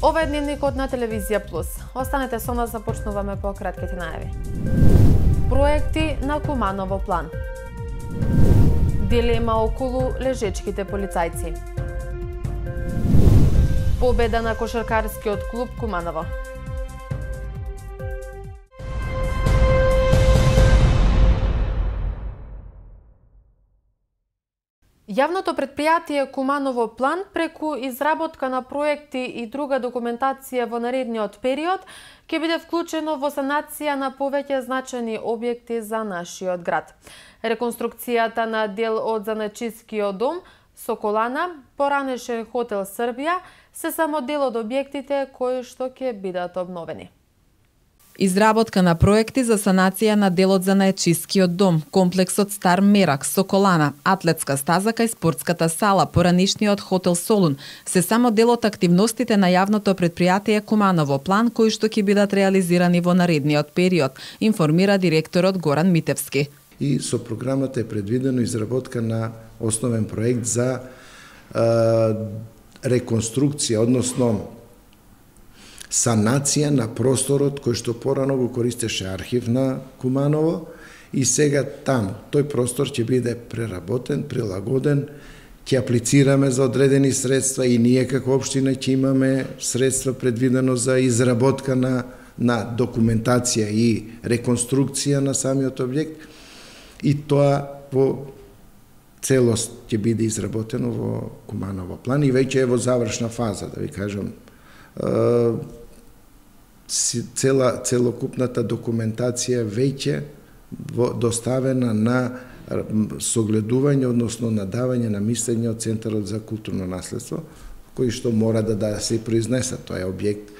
Ова е дневникот на Телевизија Плюс. Останете со нас, започнуваме по кратките најави. Проекти на Куманово план. Дилема околу лежечките полицајци. Победа на кошаркарскиот клуб Куманово. Јавното претпријатие Куманово план преку изработка на проекти и друга документација во наредниот период ќе биде вклучено во санација на повеќе значајни објекти за нашиот град. Реконструкцијата на дел од Занаечискиот дом, Соколана, поранешен хотел Србија се само дел од објектите кои што ќе бидат обновени. Изработка на проекти за санација на делот Занаечискиот дом, комплексот Стар Мерак, Соколана, атлетска стаза кај спортската сала, поранишниот хотел Солун се само дел од активностите на јавното претпријатие Куманово план кои што ќе бидат реализирани во наредниот период, информира директорот Горан Митевски. И со програмата е предвидено изработка на основен проект за реконструкција, односно санација на просторот кој што порано го користеше архив на Куманово и сега таму тој простор ќе биде преработен, прилагоден, ќе аплицираме за одредени средства и ние како општина ќе имаме средства предвидено за изработка на документација и реконструкција на самиот објект и тоа во целост ќе биде изработено во Куманово план и веќе е во завршна фаза, да ви кажам. Целокупната документација веќе доставена на согледување, односно на давање на мислење од Центарот за културно наследство, кој што мора да се произнесе. Тоа е објект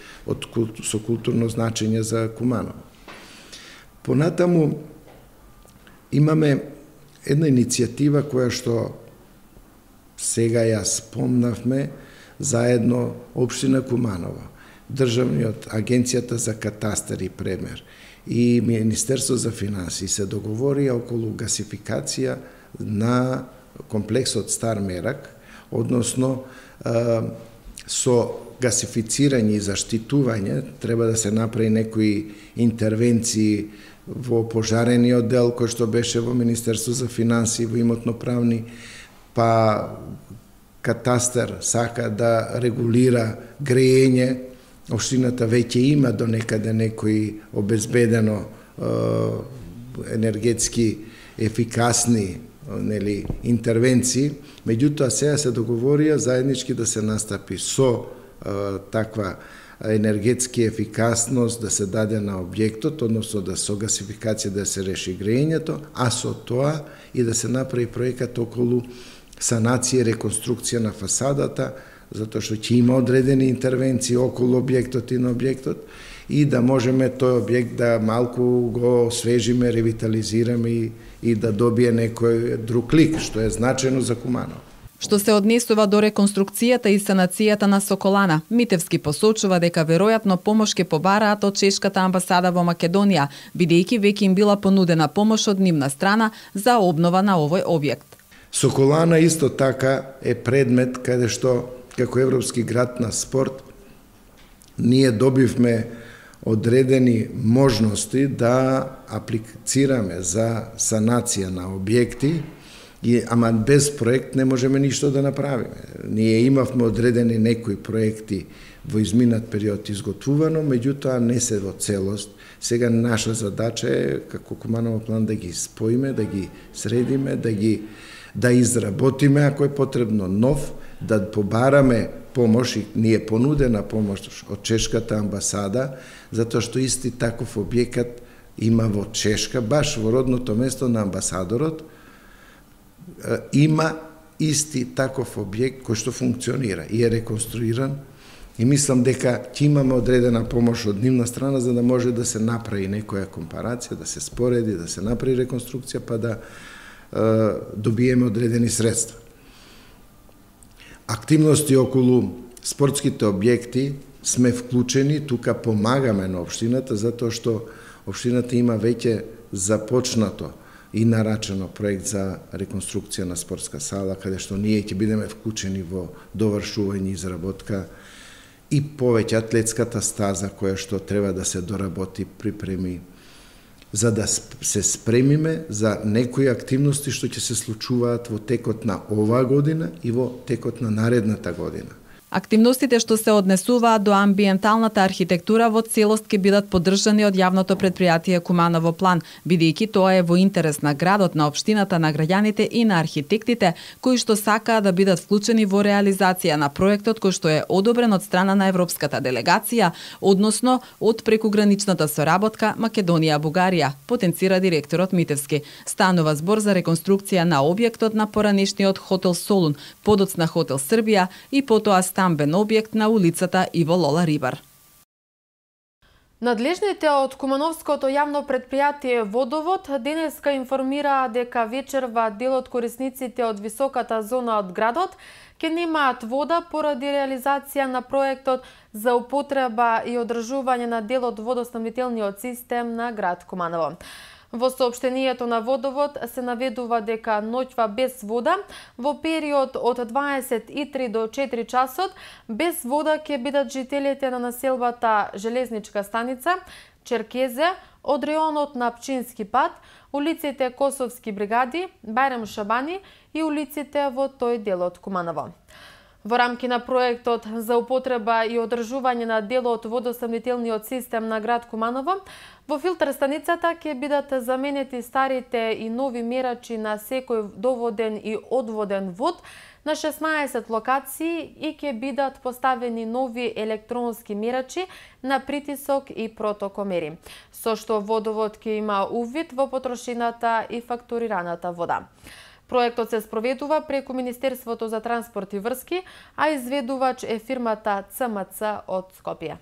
со културно значење за Куманово. Понатаму имаме една иницијатива која што сега ја спомнавме заедно Општина Куманово, Државниот Агенцијата за катастар и премер и Министерство за финансии се договорија околу гасификација на комплексот Стар Мерак, односно со гасифицирање и заштитување треба да се направи некои интервенции во пожарениот дел кој што беше во Министерство за финансии, во имотно-правни, па катастар сака да регулира грејење. Општината веќе има до некаде некои обезбедено енергетски ефикасни интервенции, меѓутоа сега се договорија заеднички да се настапи со таква енергетски ефикасност да се даде на објектот, односно да со гасификација да се реши грејењето, а со тоа и да се направи проекат околу санација и реконструкција на фасадата, затоа што ќе има одредени интервенции околу објектот и на објектот и да можеме тој објект да малку го освежиме, ревитализираме и да добие некој друг лик, што е значено за Куманово. Што се однесува до реконструкцијата и санацијата на Соколана, Митевски посочува дека веројатно помош ќе побараат од чешката амбасада во Македонија, бидејќи веќе им била понудена помош од нивна страна за обнова на овој објект. Соколана исто така е предмет каде што како Европски град на спорт ние добивме одредени можности да аплицираме за санација на објекти, ама без проект не можеме ништо да направиме. Ние имавме одредени некои проекти во изминат период изготвувано, меѓутоа не се во целост. Сега наша задача е како Куманово план да ги споиме, да ги средиме, да изработиме, ако е потребно нов, да побараме помош, и ни е понудена помош од чешката амбасада, затоа што исти таков објекат има во Чешка, баш во родното место на амбасадорот, има исти таков објект кој што функционира и е реконструиран и мислам дека ќе имаме одредена помош од нивна страна за да може да се направи некоја компарација, да се спореди, да се направи реконструкција, па да добиеме одредени средства. Активности околу спортските објекти сме вклучени, тука помагаме на општината, затоа што општината има веќе започнато и нарачено проект за реконструкција на спортска сала, каде што ние ќе бидеме вклучени во довршување и изработка и повеќе атлетската стаза која што треба да се доработи, припреми, за да се спремиме за некои активности што ќе се случуваат во текот на оваа година и во текот на наредната година. Активностите што се однесуваат до амбиенталната архитектура во целост ќе бидат поддржани од јавното претпријатие Куманово план, бидејќи тоа е во интерес на градот, на општината, на граѓаните и на архитектите кои што сакаат да бидат вклучени во реализација на проектот кој што е одобрен од страна на европската делегација, односно од прекуграничната соработка Македонија-Бугарија, потенцира директорот Митевски. Станува збор за реконструкција на објектот на поранешниот хотел Солун, подоцна хотел Србија и потоа стамбен објект на улицата Иво Лола Рибар. Надлежните од Кумановското јавно претпријатие Водовод денеска информираа дека вечерва дел од корисниците од високата зона од градот ќе немаат вода поради реализација на проектот за употреба и одржување на дел од водоснабдителниот систем на град Куманово. Во соопштението на Водовод се наведува дека ноќва без вода во период од 23 до 4 часот без вода ќе бидат жителите на населбата Железничка станица, Черкезе, од реонот на Пчински пат, улиците Косовски бригади, Бајрам Шабани и улиците во тој дел од Куманово. Во рамки на проектот за употреба и одржување на дел од водоснабдителниот систем на град Куманово, во филтер станицата ќе бидат заменети старите и нови мерачи на секој доводен и одводен вод на 16 локации и ќе бидат поставени нови електронски мерачи на притисок и протокомери, со што Водовод ќе има увид во потрошената и фактурираната вода. Проектот се спроведува преку Министерството за транспорт и врски, а изведувач е фирмата ЦМЦ од Скопје.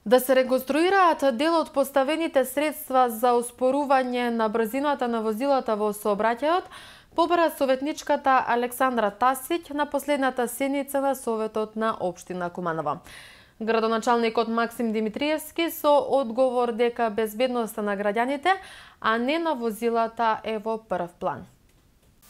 Да се реконструираат дел од поставените средства за успорување на брзината на возилата во сообраќајот, побара советничката Александра Тасиќ на последната седница на Советот на општина Куманово. Градоначалникот Максим Димитриевски со одговор дека безбедноста на граѓаните, а не на возилата е во прв план.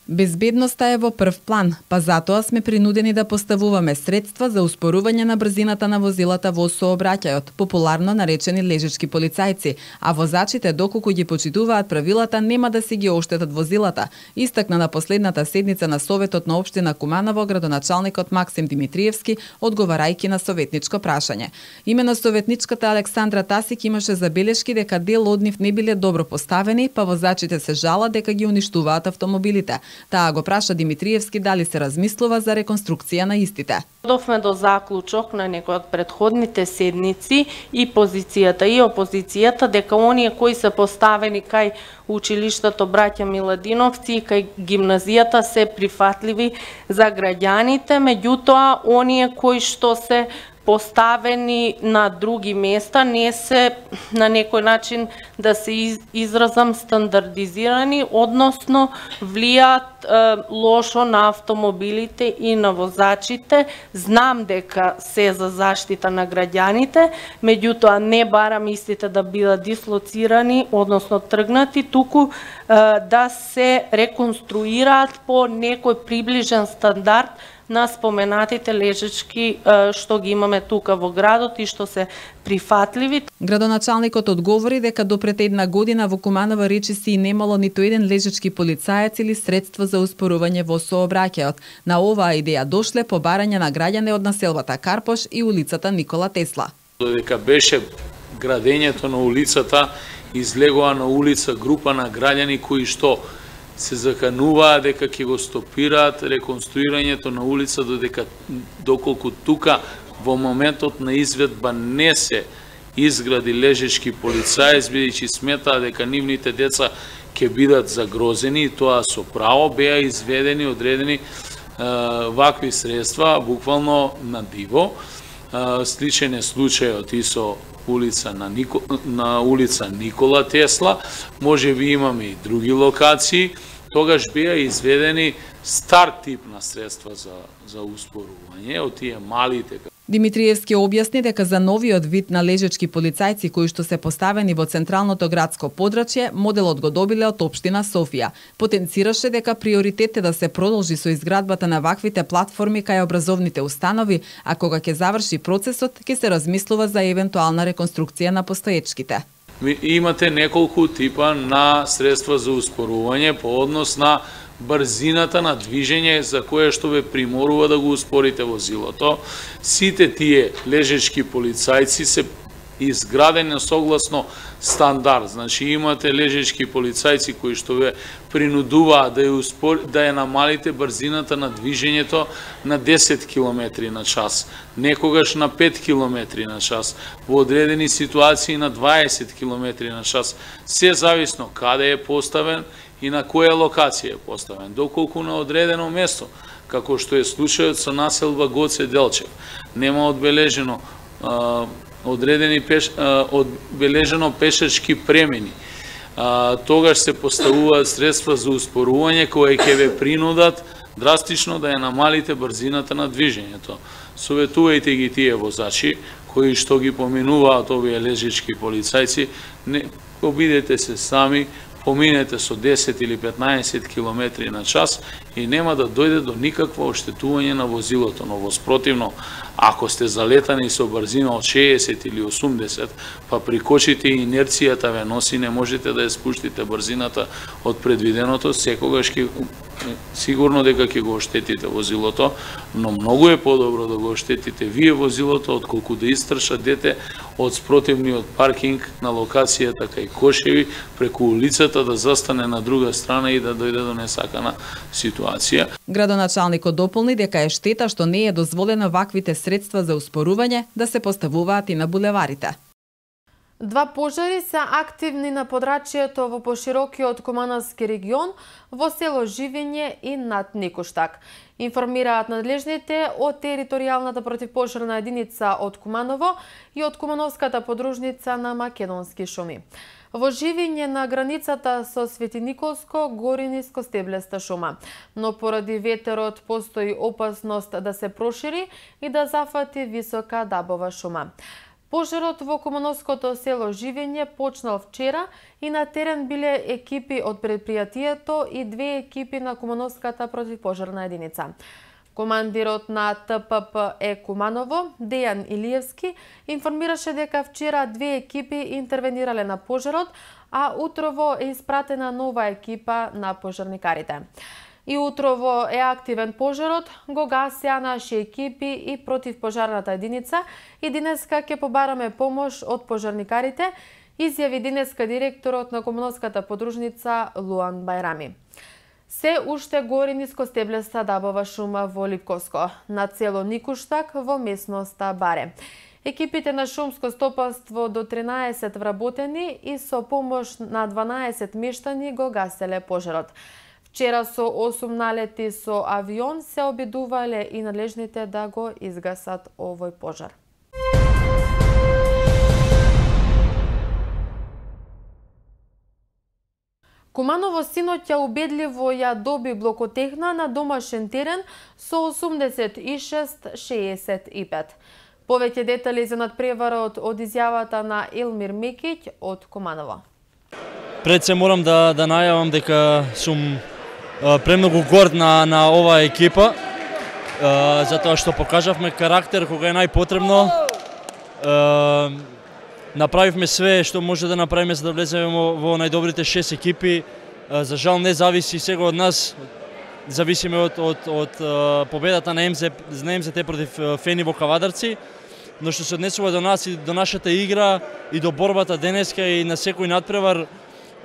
Безбедноста е во прв план, па затоа сме принудени да поставуваме средства за успорување на брзината на возилата во сообраќајот, популарно наречени лежачки полицајци, а возачите доколку ги почитуваат правилата нема да си ги оштетат возилата, истакна на последната седница на Советот на општина Куманово градоначалникот Максим Димитриевски, одговарајќи на советничко прашање. Имено советничката Александра Тасиќ имаше забелешки дека дел од нив не биле добро поставени, па возачите се жала дека ги уништуваат автомобилите. Таа го праша Димитриевски дали се размислува за реконструкција на истите. Довме до заклучок на некои од претходните седници и позицијата и опозицијата дека оние кои се поставени кај училиштето Браќа Миладиновци и кај гимназијата се прифатливи за граѓаните, меѓутоа оние кои што се поставени на други места не се на некој начин да се изразам стандардизирани, односно влијаат лошо на автомобилите и на возачите. Знам дека се за заштита на граѓаните, меѓутоа не барам истите да бидат дислоцирани, односно тргнати, туку да се реконструираат по некој приближен стандард на споменатите лежачки што ги имаме тука во градот и што се прифатливи. Градоначалникот одговори дека до пред една година во Куманово речиси и немало ниту еден лежачки полицаец или средства за успорување во сообраќајот. На оваа идеја дошле по барање на граѓани од населбата Карпош и улицата Никола Тесла. Додека беше градењето на улицата, излегоа на улица група на граѓани кои што се закануваа дека ќе го стопираат реконструирањето на улица доколку тука во моментот на изведба не се изгради лежачки полицаец, бидејќи сметаа дека нивните деца ќе бидат загрозени, и тоа со право беа изведени, одредени вакви средства, буквално на диво. Сличен е случајот и со на улица Никола Тесла, може би имаме и други локации, тогаш беа изведени стар тип на средства за успорување, од тие малите Димитриевски објасни дека за новиот вид на лежечки полицајци кои што се поставени во централното градско подрачје, моделот го добиле од општина Софија. Потенцираше дека приоритет е да се продолжи со изградбата на ваквите платформи кај образовните установи, а кога ќе заврши процесот, ќе се размислува за евентуална реконструкција на постоечките. Имате неколку типа на средства за успорување по однос на брзината на движење за кое што ве приморува да го успорите возилото. Сите тие лежечки полицајци се изградени согласно стандард. Значи имате лежечки полицајци кои што ве принудуваат да ја намалите брзината на движењето на 10 км на час, некогаш на 5 км на час, во одредени ситуации на 20 км на час, се зависно каде е поставен и на која локација е поставен, доколку на одредено место, како што е случајот со населба Гоце Делчев, нема одбележено одбележено пешачки премини, тогаш се поставуваат средства за успорување кои ќе ве принудат драстично да ја намалите брзината на движењето. Советувајте ги тие возачи кои што ги поминуваат овие лежечки полицајци, не обидете се сами, поминете со 10 или 15 км на час и нема да дојде до никакво оштетување на возилото, но воспротивно, ако сте залетани со брзина од 60 или 80, па прикочите и инерцијата ве носи, не можете да ја спуштите брзината од предвиденото, секогаш сигурно дека ќе го оштетите возилото, но многу е подобро да го оштетите вие возилото, отколку да истрша дете од спротивниот паркинг на локацијата кај Кошеви, преку улицата да застане на друга страна и да дојде до несакана ситуација. Градоначалникот дополни дека е штета што не е дозволено ваквите средства за успорување да се поставуваат и на булеварите. Два пожари се активни на подрачјето во поширокиот Кумановски регион во село Живење и над Никуштак. Информираат надлежните од територијалната противпожарна единица од Куманово и од Кумановската подружница на Македонски шуми. Во Живење на границата со Свети Николско гори нискостеблеста шума, но поради ветерот постои опасност да се прошири и да зафати висока дабова шума. Пожарот во Кумановското село Живење почнал вчера и на терен биле екипи од предпријатието и две екипи на Кумановската противпожарна единица. Командирот на ТПП Куманово, Дејан Илиевски, информираше дека вчера две екипи интервенирале на пожарот, а утрово е испратена нова екипа на пожарникарите. И утрово е активен пожарот, го гасеа наши екипи и противпожарната единица и денеска ќе побараме помош од пожарникарите, изјави денеска директорот на Кумановската подружница Луан Бајрами. Се уште гори нискостеблеста дабова шума во Липковско, на село Никуштак во местноста Баре. Екипите на шумско стопанство до 13 вработени и со помош на 12 мештани го гаселе пожарот. Вчера со 8 налети со авион се обидувале и надлежните да го изгасат овој пожар. Куманово синоќа убедливо ја доби блокотехна на домашен терен со 86-65. Повеќе детали за надпреварот од изјавата на Елмир Мекиќ од Куманово. Пред се морам да најавам дека сум премногу горд на оваа екипа, затоа што покажавме карактер кога е најпотребно. Направивме све што може да направиме за да влеземе во најдобрите 6 екипи. За жал не зависи сега од нас, зависиме од победата на МЗТ против Фени во Кавадарци, но што се однесува до нас и до нашата игра и до борбата денеска и на секој надпревар,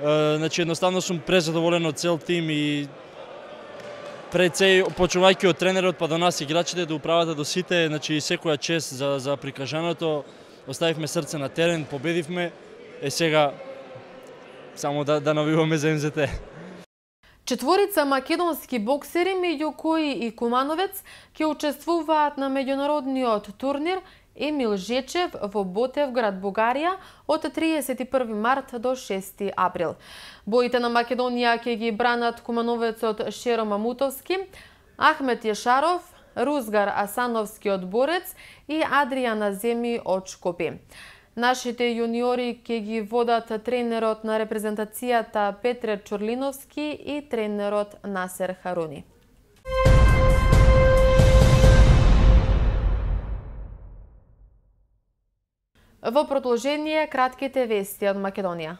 значи едноставно сум презадоволен од цел тим и пред се почнувајќи од тренерот па до нас играчите до управата до сите, значи секоја чест за прикажаното. Оставивме срце на терен, победивме, сега само да навиваме за МЗТ. Четворица македонски боксери, меѓу кои и Кумановец, ќе учествуваат на меѓународниот турнир Емил Жечев во Ботевград, Бугарија, од 31 март до 6 април. Боите на Македонија ќе ги бранат кумановецот Шеро Мамутовски, Ахмет Јешаров, Рузгар Асановски од Борец и Адријана Земи од Шкопје. Нашите јуниори ќе ги водат тренерот на репрезентацијата Петре Чорлиновски и тренерот Насер Харуни. Во продолжение кратките вести од Македонија.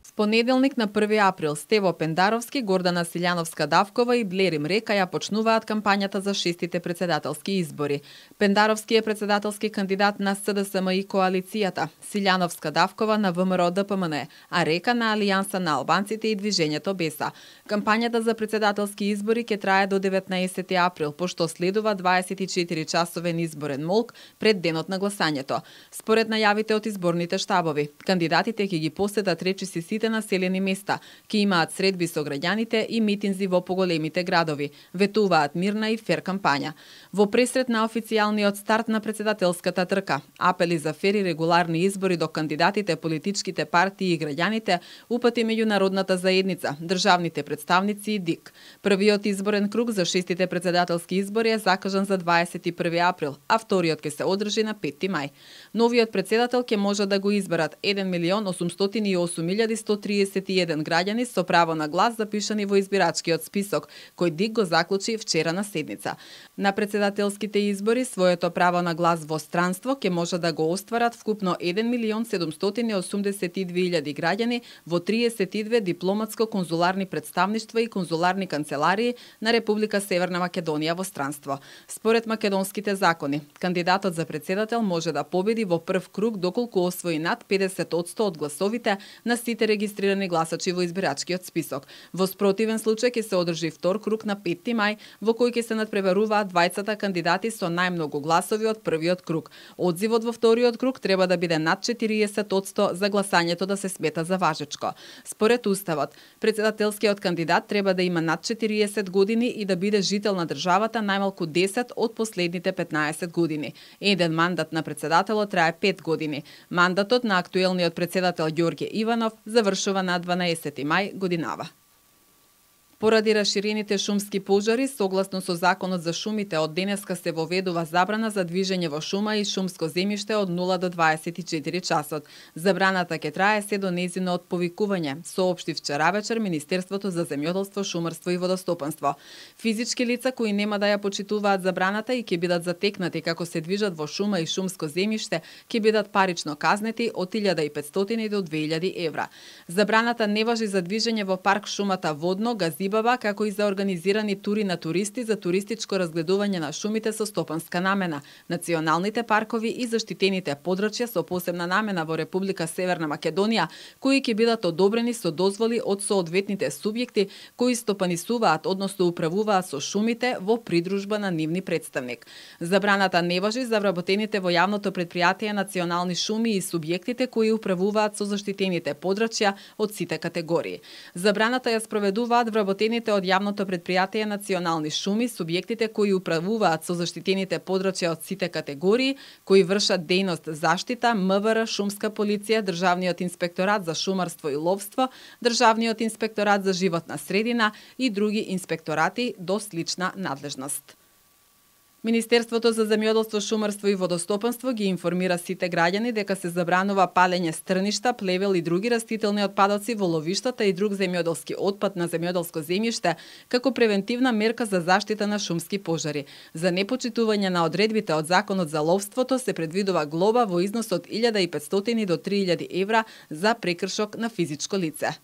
В понеделник на 1 април Стево Пендаровски, Гордана Силјановска-Давкова и Блери Мрека ја почнуваат кампањата за 6-тите председателски избори. Пендаровски е председателски кандидат на СДСМ и коалицијата, Силјановска-Давкова на ВМРО-ДПМН, а Река на Алијанса на албанците и Движењето Беса. Кампањата за председателски избори ќе трае до 19 април, пошто следува 24 часовен изборен молк пред денот на гласањето. Според најавите од изборните штабови, кандидатите ќе ги посетат речиси сите населени места, ќе имаат средби со граѓаните и митинзи во поголемите градови, ветуваат мирна и фер кампања. Во пресрет на официјалниот старт на председателската трка, апели за фер и регуларни избори до кандидатите, политичките партии и граѓаните упати меѓународната заедница, државните представници и ДИК. Првиот изборен круг за 6-тите председателски избори е закажан за 21 април, а вториот ќе се одржи на 5 мај. Новиот председател ќе може да го изберат 1.808.131 граѓани со право на глас запишани во избирачкиот список, кој ДИК го заклучи вчера на седница. На председателските избори своето право на глас во странство ќе може да го остварат вкупно 1.782.000 граѓани во 32 дипломатско-конзуларни представништва и конзуларни канцеларии на Република Северна Македонија во странство. Според македонските закони, кандидатот за председател може да победи во прв круг доколку освои над 50% од гласовите на сите регистрирани гласачи во избирачкиот список. Во спротивен случај ќе се одржи втор круг на 5 мај, во кој ќе се надпреваруваат двајцата кандидати со најмногу гласови од првиот круг. Одзивот во вториот круг треба да биде над 40% за гласањето да се смета за важечко. Според Уставот, председателскиот кандидат треба да има над 40 години и да биде жител на државата најмалку 10 од последните 15 години. Еден мандат на председателот трае 5 години. Мандатот на актуелниот председател Ѓорѓе Иванов завршува на 12 мај годинава. Поради расширените шумски пожари, согласно со Законот за шумите, од денеска се воведува забрана за движење во шума и шумско земјиште од 0 до 24 часот. Забраната ќе трае се до нејзино отповикување, соопшти вчера вечер Министерството за земјоделство, шумарство и водостопанство. Физички лица кои нема да ја почитуваат забраната и ќе бидат затекнати како се движат во шума и шумско земјиште, ќе бидат парично казнети од 1500 до 2000 евра. Забраната не важи за движење во парк шумата Водно, Газибаба, како и за организирани тури на туристи за туристичко разгледување на шумите со стопанска намена, националните паркови и заштитените подрачја со посебна намена во Република Северна Македонија, кои ќе бидат одобрени со дозволи од соодветните субјекти кои стопанисуваат, односно управуваат со шумите во придружба на нивни представник. Забраната не важи за вработените во јавното претпријатие национални шуми и субјектите кои управуваат со заштитените подрачја од сите категории. Забраната ја спроведуваат вработените од јавното претпријатие национални шуми, субјектите кои управуваат со заштитените подрачја од сите категории, кои вршат дејност заштита, МВР, шумска полиција, Државниот инспекторат за шумарство и ловство, Државниот инспекторат за животна средина и други инспекторати до слична надлежност. Министерството за земјоделство, шумарство и водостопанство ги информира сите граѓани дека се забранува палење стрништа, плевел и други растителни отпадоци во ловиштата и друг земјоделски отпад на земјоделско земјиште како превентивна мерка за заштита на шумски пожари. За непочитување на одредбите од Законот за ловството се предвидува глоба во износ од 1500 до 3000 евра за прекршок на физичко лице.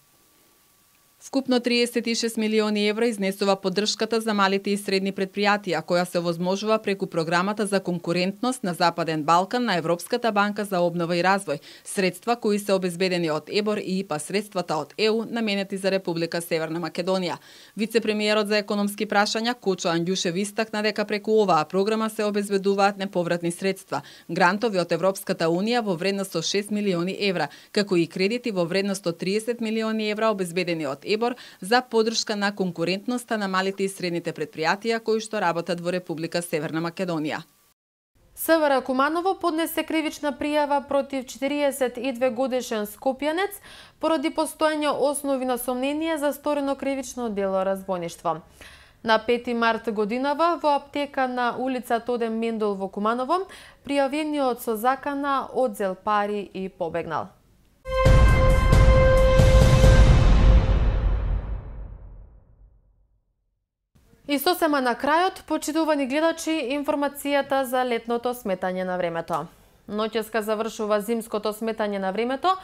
Вкупно 36 милиони евра изнесува поддршката за малите и средни предпријатија, која се овозможува преку програмата за конкурентност на Западен Балкан на Европската банка за обнова и развој, средства кои се обезбедени од ЕБОР и ИПА средствата од ЕУ наменети за Република Северна Македонија. Вице-премиерот за економски прашања Кочо Анѓушев истакна дека преку оваа програма се обезбедуваат неповратни средства, грантови од Европската унија во вредност од 6 милиони евра, како и кредити во вредност од 30 милиони евра обезбедени од ЕБОР за поддршка на конкурентноста на малите и средните предпријатија кои што работат во Република Северна Македонија. СВР Куманово поднесе кривична пријава против 42 годишен скопјанец поради постоење основи на сомнение за сторено кривично дело разбойништво. На 5 март годинава во аптека на улица Тодем Мендол во Куманово, пријавениот со закана одзел пари и побегнал. И сосема на крајот, почитувани гледачи, информацијата за летното сметање на времето. Ноќеска завршува зимското сметање на времето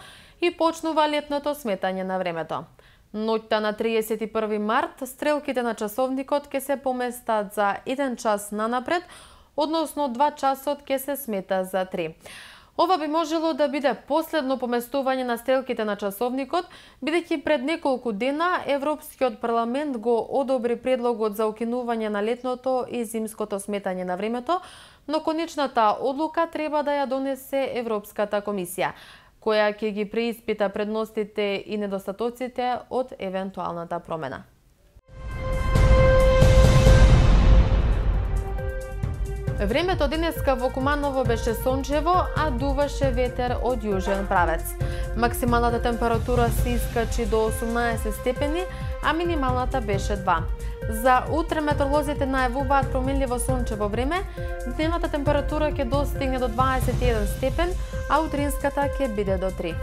и почнува летното сметање на времето. Ноќта на 31 март стрелките на часовникот ќе се поместат за 1 час нанапред, односно 2 часот ќе се смета за 3. Ова би можело да биде последно поместување на стрелките на часовникот, бидејќи пред неколку дена Европскиот парламент го одобри предлогот за укинување на летното и зимското сметање на времето, но конечната одлука треба да ја донесе Европската комисија, која ќе ги преиспита предностите и недостатоците од евентуалната промена. Времето денеска во Куманово беше сончево, а дуваше ветер од јужен правец. Максималната температура се искачи до 18 степени, а минималната беше 2. За утре метеоролозите најавуваат променливо сончево време, дневната температура ќе достигне до 21 степен, а утринската ќе биде до 3.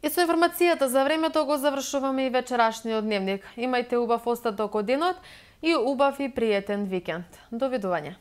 И со информацијата за времето го завршуваме и вечерашниот дневник. Имајте убав остаток од денот и убав и пријатен викенд. Довидување.